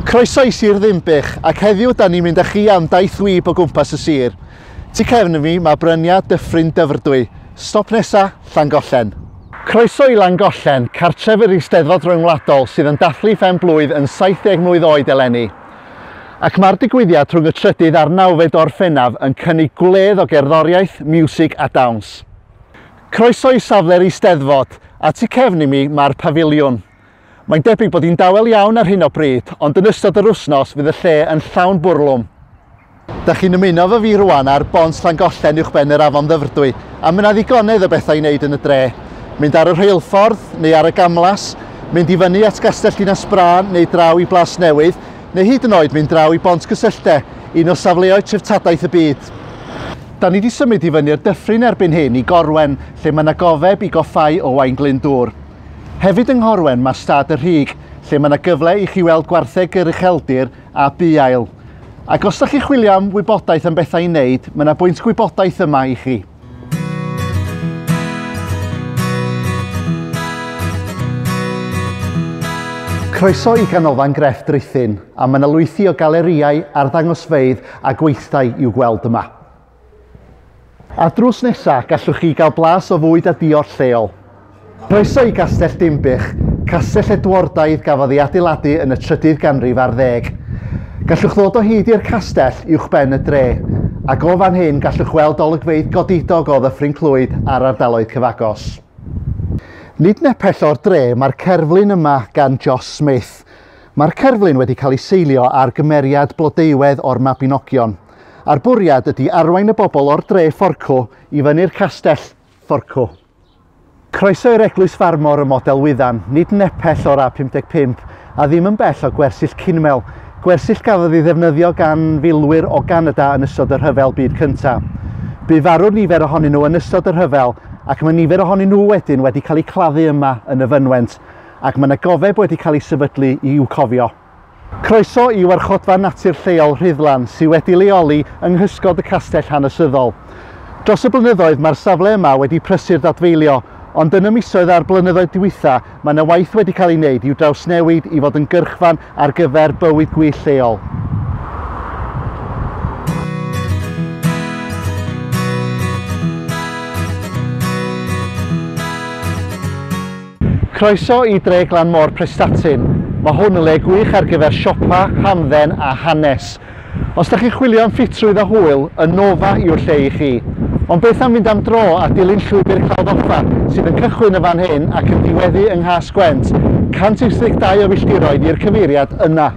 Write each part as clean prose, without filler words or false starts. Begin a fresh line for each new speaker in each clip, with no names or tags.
Croeso i Sir Ddinbych, ac heddiw da ni'n mynd â chi am daith wib o gwmpas y sir. Tu cefn i fi mae bryniau Dyffryn Dyfrdwy. Stop nesa, Llangollen. Croeso i Langollen, cartref yr Eisteddfod Ryngwladol sydd yn dathlu phen blwydd yn 70 mlwydd oed eleni. Ac mae'r digwyddiad rhwng y trydydd a'r nawfed o Orffennaf yn cynnig gwledd o gerddoriaeth, miwsig a dawns. Croeso i safle'r Eisteddfod, a tu cefn i mi mae'r pafiliwn. Mae'n debyg bod hi'n dawel iawn ar hyn o bryd, ond yn ystod yr wythnos fydd y lle yn llawn bwrlwm. Da chi'n ymuno efo fi rwan ar bont Llangollen uwchben yr afon Ddyfrdwy, a mae 'na ddigonedd o bethau i wneud yn y dre. Mynd ar y rheilffordd neu ar y gamlas, mynd i fyny at Gastell Dinas Brân neu draw i Blas Newydd, neu hyd yn oed mynd draw i Bont Cysyllte, un o safleoedd treftadaeth y byd. Da ni wedi symud i fyny'r dyffryn erbyn hyn i Gorwen, lle mae 'na gofeb i goffáu Owain Glyndŵr. Hefyd yng Nghorwen mae Stad y Rhug, lle mae yna gyfle i chi weld gwartheg yr ucheldir a buail. Ac os ydych chi'n chwilio am wybodaeth am bethau i wneud, mae yna bwynt gwybodaeth yma i chi. Croeso i Ganolfan Grefft Rhuthun, a mae yna lwythi o galerïau, arddangosfeydd a gweithdai i'w gweld yma. A drws nesa, gallwch chi gael blas o fwyd a diod lleol. Croeso i Gastell Dinbych, castell Edwardaidd gafodd ei adeiladu yn y trydydd ganrif ar ddeg. Gallwch ddod o hyd i'r castell uwchben y dre, ac o fan hyn gallwch weld olygfeydd godidog o Ddyffryn Clwyd a'r ardaloedd cyfagos. Nid nepell o'r dre mae'r cerflun yma gan Joss Smith. Mae'r cerflun wedi cael ei seilio ar gymeriad Blodeuwedd o'r Mabinogion, a'r bwriad ydy arwain y bobl o'r dre fforcw i fyny'r castell fforcw. Croeso i'r Eglwys Farmor ym Modelwyddan, nid nepell o'r A55 a ddim yn bell o Gwersyll Cinmel, gwersyll gafodd ei ddefnyddio gan filwyr o Ganada yn ystod y Rhyfel Byd Cyntaf. Bu farw nifer ohonyn nhw yn ystod y rhyfel ac mae nifer ohonyn nhw wedyn wedi cael eu claddu yma yn y fynwent ac mae yna gofeb wedi cael ei sefydlu i'w cofio. Croeso i Warchodfa Natur Lleol Rhuddlan sydd wedi leoli yng nghysgod y castell hanesyddol. Dros y blynyddoedd mae'r safle yma wedi prysur ddadfeilio, ond yn y misoedd a'r blynyddoedd diwetha mae yna waith wedi cael ei wneud i'w drawsnewid i fod yn gyrchfan ar gyfer bywyd gwyllt lleol. Croeso i dre glan môr Prestatyn. Mae hwn yn le gwych ar gyfer siopa, hamdden a hanes. Os da chi'n chwilio am ffitrwydd a hwyl, y Nova yw'r lle i chi. Ond beth am fynd am dro a dilyn llwybr Clawdd Offa, sydd yn cychwyn y fan hyn ac yn diweddu yng Nghas-gwent, 182 o filltiroedd i'r cyfeiriad yna.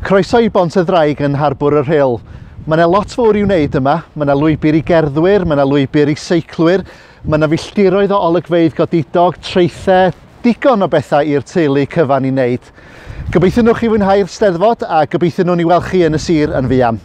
Croeso i Bont y Ddraig yn Harbwr y Rhyl. Mae yna lot fawr i'w wneud yma. Mae yna lwybr i gerddwyr, mae yna lwybr i seiclwyr, Mae yna filltiroedd o olygfeydd godidog, traethau, digon o bethau i'r teulu cyfan i wneud. Gobeithio nhw chi fwynhau'r Steddfod a gobeithio nhw'n i weld chi yn y sir yn fuan.